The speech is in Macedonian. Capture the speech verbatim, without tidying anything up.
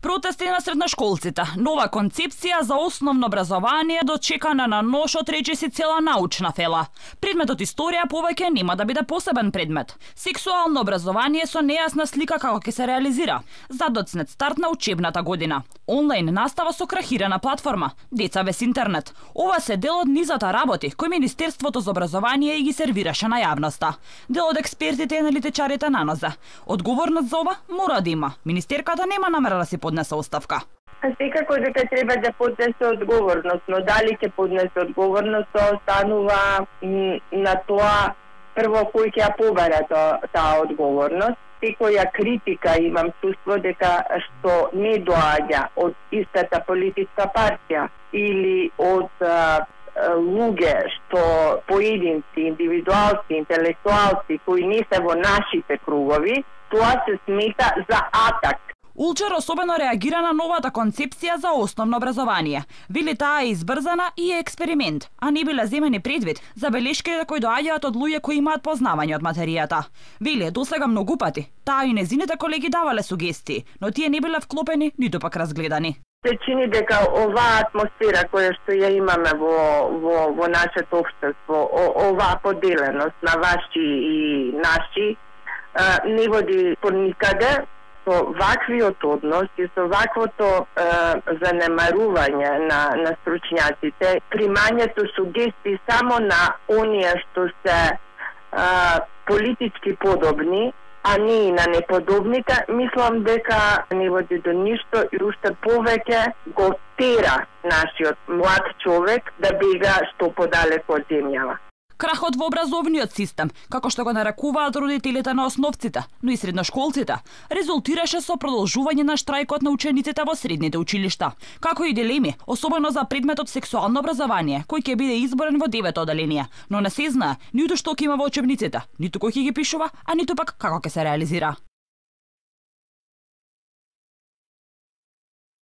Протести на средношколците, нова концепција за основно образование дочекана на нож од речиси цела научна фела. Предметот историја повеќе нема да биде посебен предмет. Сексуално образование со нејасна слика како ќе се реализира. Задоцнет старт на учебната година. Онлайн настава со крахирана платформа. Деца без интернет. Ова се дел од низата работи кои Министерството за образование и ги сервираше на јавноста. Дел од експертите и аналитичарите на НОЗ. Одговорност за ова мора да има. Министерката нема намера да си поднесе оставка. Секако дека треба да поднесе одговорност, но дали ќе поднесе одговорност, тоа останува на тоа прво кој ќе ја побара таа одговорност. Секоја критика имам чувство дека што не доаѓа од истата политичка партија или од а, луѓе што поединци, индивидуалци, интелектуалци кои не се во нашите кругови, тоа се смета за атак. Улчер особено реагира на новата концепција за основно образование. Вели таа е избрзана и е експеримент, а не биле земени предвид забелешките кои доаѓаат од луѓе кои имаат познавање од материјата. Вели досега многу пати, таа и незините колеги давале сугестии, но тие не биле вклопени ниту пак разгледани. Се чини дека оваа атмосфера која што ја имаме во, во, во нашето општество, оваа поделеност на ваши и наши, не води по никаде. Со ваквиот однос и со ваквото е, занемарување на, на стручњаците, примањето сугестии само на оние што се е, политички подобни, а не и на неподобните, мислам дека не води до ништо и уште повеќе го тера нашиот млад човек да бега што подалеку од земјава. Крахот во образовниот систем, како што го нарекуваат родителите на основците, но и средношколците, резултираше со продолжување на штрајкот на учениците во средните училишта, како и дилеми, особено за предметот сексуално образование, кој ќе биде изборен во девето оделение, но не се знае ниту што ќе има во учебниците, ниту кој ќе ги пишува, а ниту пак како ќе се реализира.